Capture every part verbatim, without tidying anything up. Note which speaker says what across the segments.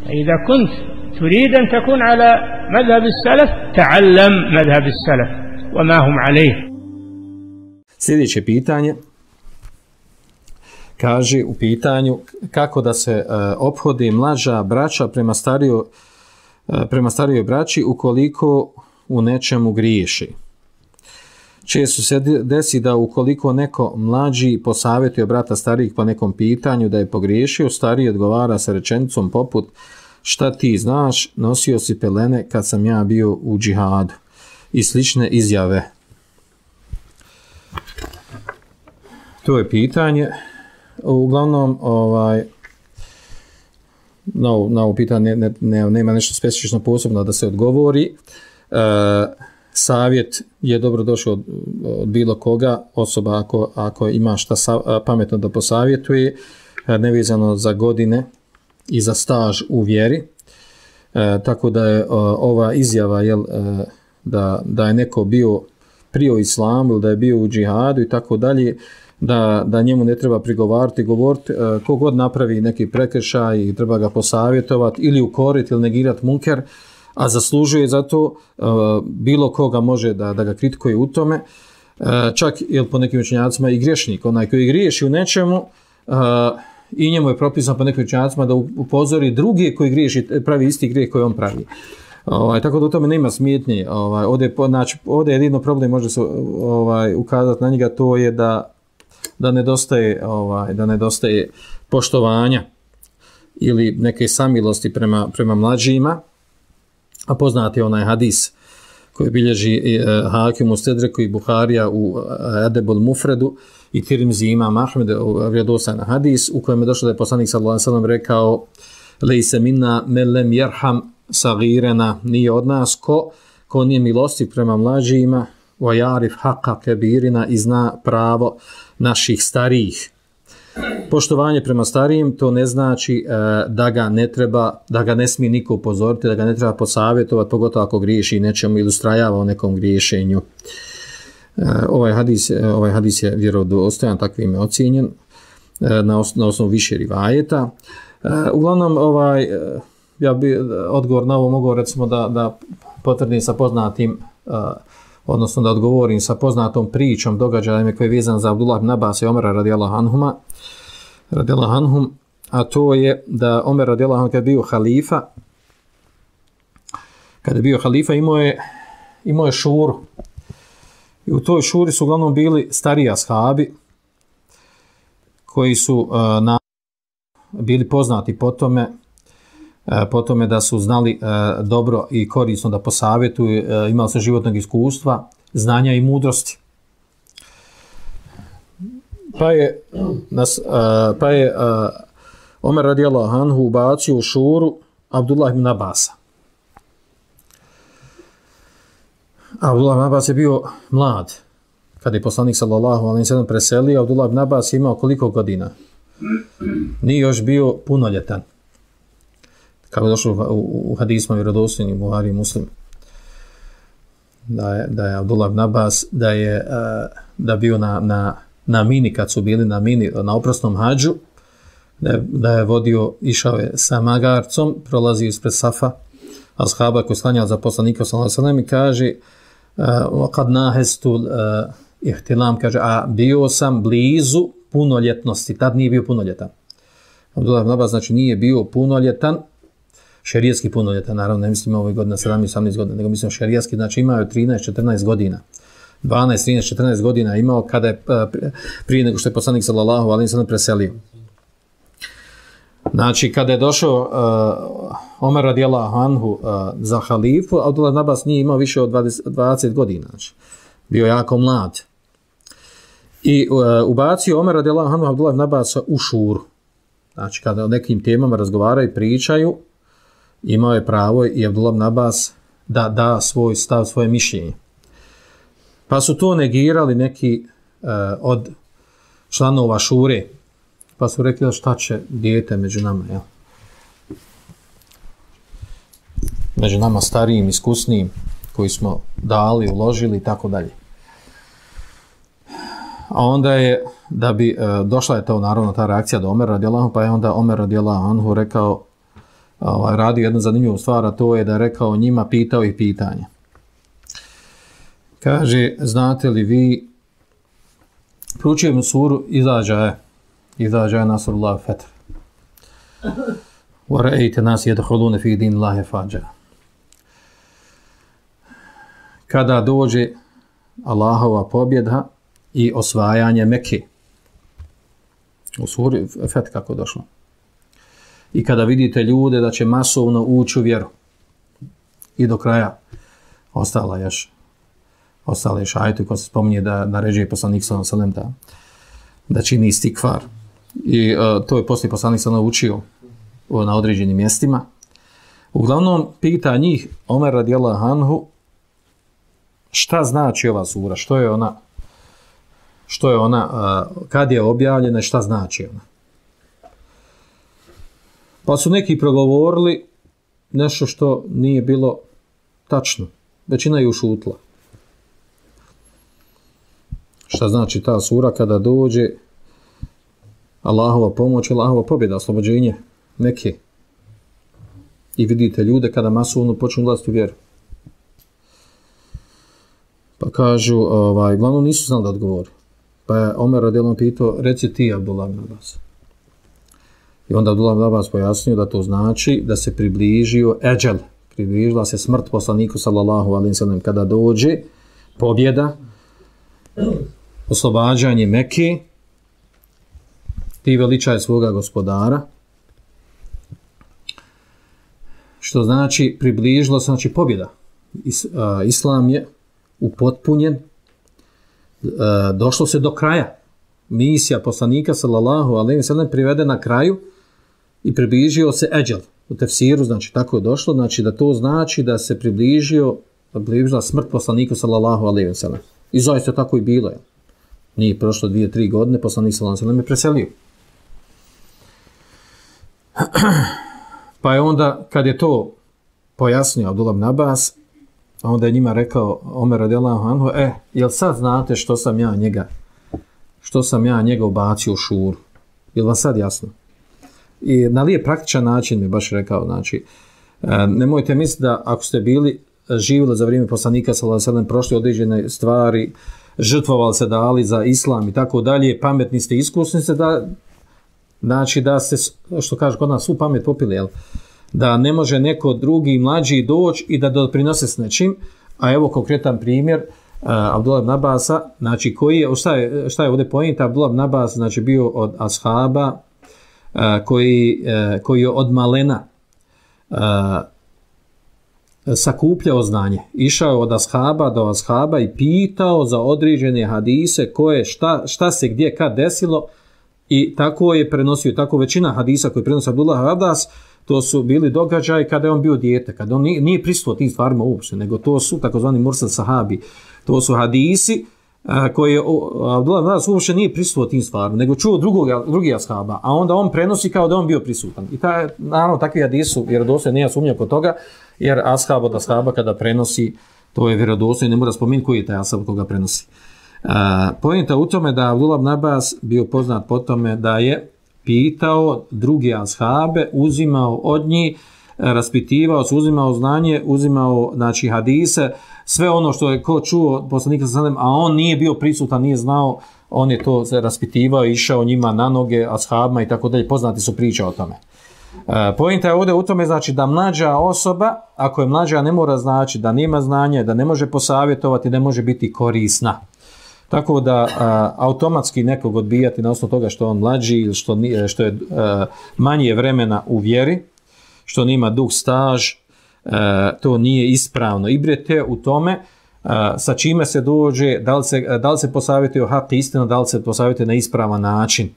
Speaker 1: إذا كنت تريد أن تكون على مذهب السلف تعلم مذهب السلف وما هم عليه.
Speaker 2: Sljedeće pitanje kaže u pitanju kako da se uh, ophode mlađa braća prema starijoj uh, prema starijoj braći ukoliko u nečemu griješi. Često se desi da ukoliko neko mlađi posavjetuje brata starijih po nekom pitanju da je pogriješio, stariji odgovara sa rečenicom poput šta ti znaš, nosio si pelene kad sam ja bio u džihadu i slične izjave. To je pitanje. Uglavnom, ovaj, na, na ovo pitanje ne, ne, nema nešto specifično posebno da se odgovori. E, savjet je dobro došao od, od bilo koga, osoba ako, ako ima šta sa, pametno da posavjetuje, nevezano za godine i za staž u vjeri. E, tako da je o, ova izjava jel, e, da, da je neko bio prije u islamu ili da je bio u džihadu i tako dalje, da, da njemu ne treba prigovarati, govoriti, e, kogod napravi neki prekršaj i treba ga posavjetovati ili ukoriti ili negirati munker, a zaslužuje za to, e, bilo koga može da, da ga kritikuje u tome, e, čak jel, po nekim učenjacima i griješnik, onaj koji griješi u nečemu, e, i njemu je propisano po nekim učenjacima da upozori drugi koji griješi, pravi isti grijeh koji on pravi. Ovaj, tako da u tome nema smetnje. Ovaj, ovdje, znači, ovdje jedino problem može se ovaj, ukazati na njega, to je da, da, nedostaje, ovaj, da nedostaje poštovanja ili neke samilosti prema, prema mlađima. A poznati je onaj hadis koji bilježi eh, Hakim u Stedreku i Buharija u Adebul Mufredu i Tirmizi imam Ahmed, vjerodostojni hadis u kojem je došlo da je poslanik sallallahu alejhi ve sellem rekao lejse minna men lem yerham sagirena, nije od nas ko, ko nije milostiv prema mlađima, wa yarif haqqa kebirina, i zna pravo naših starijih. Poštovanje prema starijim to ne znači e, da ga ne treba, da ga ne smije niko upozoriti, da ga ne treba posavjetovati, pogotovo ako griješi nečemu ili ustrajava o nekom griješenju. E, ovaj, hadis, ovaj hadis je vjerodostojan, takvim je ocijenjen e, na, os, na osnovu više rivajeta. E, uglavnom, ovaj, e, ja bi odgovor na ovo mogao recimo da, da potvrdim sa poznatim, e, odnosno da odgovorim sa poznatom pričom, događajem koji je vezan za Abdullah ibn Abbas i Omera radijallahu anhuma, radijallahu anhum, a to je da Omer radijallahu anhu kad je bio halifa, kad je bio halifa imao je, imao je šuru. I u toj šuri su uglavnom bili stariji ashabi koji su uh, na, bili poznati po tome, uh, po tome da su znali uh, dobro i korisno da posavjetuju, uh, imali su životnog iskustva, znanja i mudrosti. Pa je, nas, uh, pa je uh, Omer radijallahu anhu ubacio u šuru Abdullah ibn Abbasa. Abdullah ibn Abbas je bio mlad. Kada je poslanik sallallahu alejhi ve sellem preselio, Abdullah ibn Abbas imao koliko godina? Nije još bio punoljetan. Kako je došlo u, u hadisma vjerodostojnim Buhari i Muslim. Da je, da je Abdullah ibn Abbas da je uh, da bio na, na, na mini, kad su bili na mini, na oprosnom hađu, da je, da je vodio, išao je sa magarcom, prolazio ispred Safa, ashaba koji sklanjali za poslanika sallallahu alejhi ve sellem i kaže kad nahestu ihtilam, kaže, a bio sam blizu punoljetnosti, tad nije bio punoljetan. Abdullah ibn Abbas, znači nije bio punoljetan, šerijski punoljetan, naravno ne mislim ove godine sedamnaest osamnaest godina, nego mislim šerijski, znači imao je trinaest četrnaest godina. dvanaest trinaest četrnaest godina imao kada je prije nego što je poslanik sallallahu alejhi ve sellem preselio. Znači, kada je došao uh, Omer radijallahu anhu uh, za halifu, Abdullah ibn Abbas nije imao više od dvadeset, dvadeset godina. Znači, bio jako mlad. I uh, ubacio Omer radijallahu anhu Abdullah ibn Abbasa u šuru. Znači, kada o nekim temama razgovaraju i pričaju, imao je pravo i Abdullah ibn Abbas da da svoj stav, svoje mišljenje. Pa su to negirali neki uh, od članova šure, pa su rekli šta će dijete među nama, jel? Među nama starijim, iskusnijim, koji smo dali, uložili i tako dalje. A onda je, da bi, e, došla je to naravno ta reakcija do Omer radijallahu anhu, pa je onda Omer radijallahu anhu rekao, ovaj, radio jednu zanimljivu stvar, a to je da je rekao njima, pitao ih pitanje. Kaže, znate li vi, proučujemo suru Izađa, Izađa Nasrullah Fetr. Wa ra'ayta nas yadkhuluna fi dinillahi fajja. Kada dođe Allahova pobjeda i osvajanje Mekke. U suri Fetr kako došlo. I kada vidite ljude da će masovno ući u vjeru. I do kraja ostala još ostale još ajeti koji se spominje da naređuje poslanik sallallahu alejhi ve sellem da da čini istikfar. I uh, to je poslije poslanik sallallahu učio uh, na određenim mjestima. Uglavnom pita njih Omer radijallahu anhu šta znači ova sura, što je ona što je ona uh, kad je objavljena, šta znači ona. Pa su neki progovorili nešto što nije bilo tačno. Većina je ušutla. Šta znači ta sura kada dođe Allahova pomoć, Allahova pobjeda, oslobođenje Mekke. I vidite ljude kada masovno počnu ulaziti u vjeru. Pa kažu, ovaj, glavno nisu znali da odgovori. Pa je Omer radijallahu anhu pitao, reci ti Abdullah ibn Abbas. I onda Abdullah ibn Abbas pojasnio da to znači da se približio eđel, približila se smrt poslaniku sallallahu alejhi ve sellem kada dođe pobjeda, oslobađanje Mekke, ti veličaj svoga gospodara, što znači približilo se, znači pobjeda. Is, a, Islam je upotpunjen, a, došlo se do kraja. Misija poslanika sallallahu alejhi ve sellem privede na kraju i približio se eđel. U tefsiru, znači tako je došlo, znači da to znači da se približio, približila smrt poslaniku sallallahu alejhi ve sellem. I zaista tako i bilo je. Nije prošlo dvije, tri godine, poslanik sallallahu alejhi ve sellem je preselio. Pa je onda, kad je to pojasnio Abdullah ibn Abbas, onda je njima rekao Omer radijallahu anhu, e, jel sad znate što sam ja njega, što sam ja njega ubacio u šuru? Jel vam sad jasno? I na lijep praktičan način mi baš rekao, znači, nemojte misliti da ako ste bili živjeli za vrijeme poslanika sallallahu alejhi ve sellem, prošli određene stvari, žrtvovali se dali za islam i tako dalje, pametni ste, iskusni ste, da znači da se, što kaže kod nas, svu pamet popili, jel? Da ne može neko drugi mlađi doći i da doprinose s nečim, a evo konkretan primjer uh, Abdullah ibn Abbasa, znači koji je, šta je, šta je ovdje pojenta, Abdullah ibn Abbas znači bio od ashaba uh, koji, uh, koji je od malena uh, sakupljao znanje. Išao od ashaba do ashaba i pitao za određene hadise koje, šta, šta se gdje kad desilo. I tako je prenosio, tako većina hadisa koji prenosi Abdullah ibn Abbas, to su bili događaji kada je on bio dijete, kada on nije, nije prisustvo tim stvarima uopšte, nego to su takozvani mursal sahabi. To su hadisi a, koji je Abdullah ibn Abbas uopšte nije prisustvo tim stvarima, nego čuo drugog, drugi ashaba, a onda on prenosi kao da on bio prisutan. I ta, naravno takvi hadisi su vjerodostojni, nema sumnja kod toga, jer ashab od ashaba kada prenosi, to je vjerodostojno, ne mora spomenuti koji je taj ashab koga prenosi. Uh, pojenta u tome da Abdullah ibn Abbas bio poznat po tome da je pitao druge ashabe, uzimao od njih, raspitivao se, uzimao znanje, uzimao znači hadise, sve ono što je ko čuo poslanika sallallahu alejhi ve sellem, a on nije bio prisutan, nije znao, on je to raspitivao, išao njima na noge, ashabima i tako dalje, poznati su priče o tome. Uh, pojenta je ovdje u tome znači da mlađa osoba, ako je mlađa, ne mora znači da nema znanja, da ne može posavjetovati, ne može biti korisna. Tako da a, automatski nekog odbijati na osnovu toga što on mlađi ili što, što je a, manje vremena u vjeri, što nima dug staž, a, to nije ispravno. Ibrete u tome a, sa čime se dođe, da li se, da li se posavjetuje o hak istina, da li se posavjetuje na ispravan način.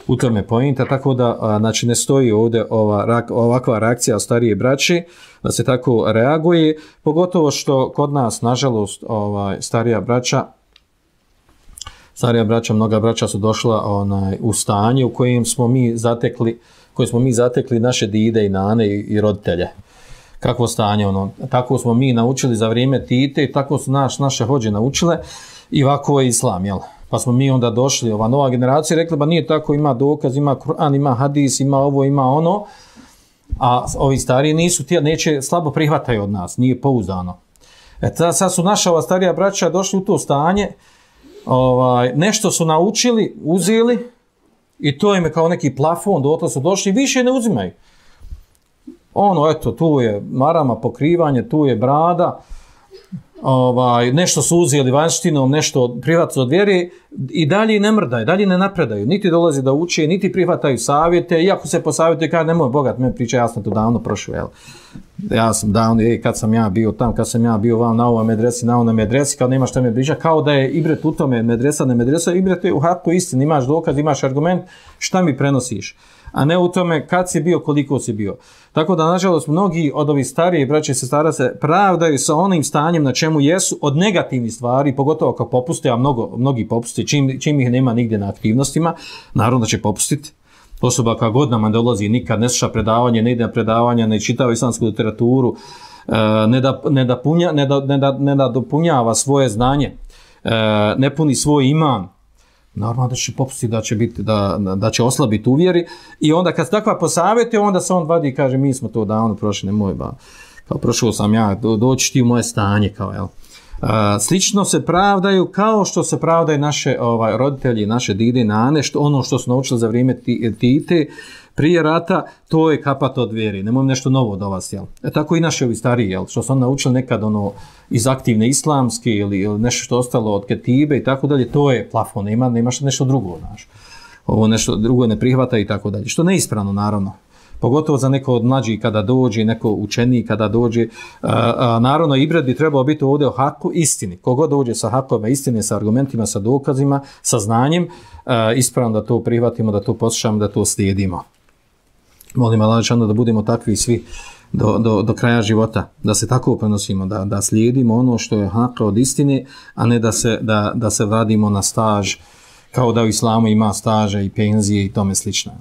Speaker 2: U tome pojenta, tako da a, znači ne stoji ovdje ova, ovakva reakcija starije braće, da se tako reaguje, pogotovo što kod nas, nažalost, ovaj, starija braća, starija braća, mnoga braća su došla onaj, u stanje u kojem smo mi zatekli, koje smo mi zatekli naše dide i nane i, i roditelje. Kakvo stanje ono? Tako smo mi naučili za vrijeme Tite i tako su naš, naše hođe naučile i ovako je islam, jel? Pa smo mi onda došli, ova nova generacija rekla, ba nije tako, ima dokaz, ima Kur'an, ima hadis, ima ovo, ima ono. a ovi stariji nisu, ti neće, slabo prihvataju od nas, nije pouzdano. E ta, sad su naša ova starija braća došli u to stanje, ovaj, nešto su naučili, uzeli i to im je kao neki plafon, do su došli, više ne uzimaju. Ono, eto, tu je marama, pokrivanje, tu je brada, ovaj, nešto su uzeli vanštinom, nešto prihvatili od vjere i dalje ne mrdaju, dalje ne napredaju, niti dolazi da uče, niti prihvataju savjete, iako se posavjetuje, kaže, nemoj bogat, me priča, ja sam to davno prošao, jel? Ja sam davno, ej, kad sam ja bio tam, kad sam ja bio vam na ovom medresi, na ovom medresi, kao nema šta me priča, kao da je ibret u tome, medresa, ne medresa, ibret je u haku istini, imaš dokaz, imaš argument, šta mi prenosiš, a ne u tome kad si bio, koliko si bio. Tako da, nažalost, mnogi od ovih starije braće i sestara se pravdaju sa onim stanjem na čemu jesu od negativnih stvari, pogotovo kao popuste, a mnogo, mnogi popuste, čim, čim ih nema nigdje na aktivnostima, naravno da će popustiti. Osoba koja godinama dolazi, nikad ne sluša predavanje, ne ide na predavanja, ne čitava islamsku literaturu, ne da, ne da, punja, ne da, ne da, ne da dopunjava svoje znanje, ne puni svoj iman, normalno da će popustiti, da će, biti, da, da će oslabiti u vjeri i onda kad se takva posavjeti, onda se on vadi i kaže mi smo to davno prošli, nemoj ba, kao prošao sam ja, do, doći ti u moje stanje, kao jel. Uh, slično se pravdaju kao što se pravdaju naše ovaj, roditelji, naše dide i nane, što, ono što su naučili za vrijeme Tite, prije rata, to je kapat od vjeri, nemoj nešto novo od vas, jel? E, tako i naši ovi stariji, jel? Što su oni naučili nekad ono, iz aktivne islamske ili, ili nešto što ostalo od ketibe i tako dalje, to je plafon, nema, nema nešto drugo, znaš. Ovo nešto drugo ne prihvata i tako dalje, što neispravno, naravno. Pogotovo za neko od mlađih kada dođe, neko učeniji kada dođe. A, a, naravno, ibret bi trebao biti ovdje o haku istini. Kogod dođe sa hakovima istine, sa argumentima, sa dokazima, sa znanjem, a, ispravno da to prihvatimo, da to poslušamo, da to slijedimo. Molim Allah da budemo takvi svi do, do, do kraja života, da se tako prenosimo, da, da slijedimo ono što je hak od istine, a ne da se, da, da se vradimo na staž, kao da u islamu ima staža i penzije i tome slično.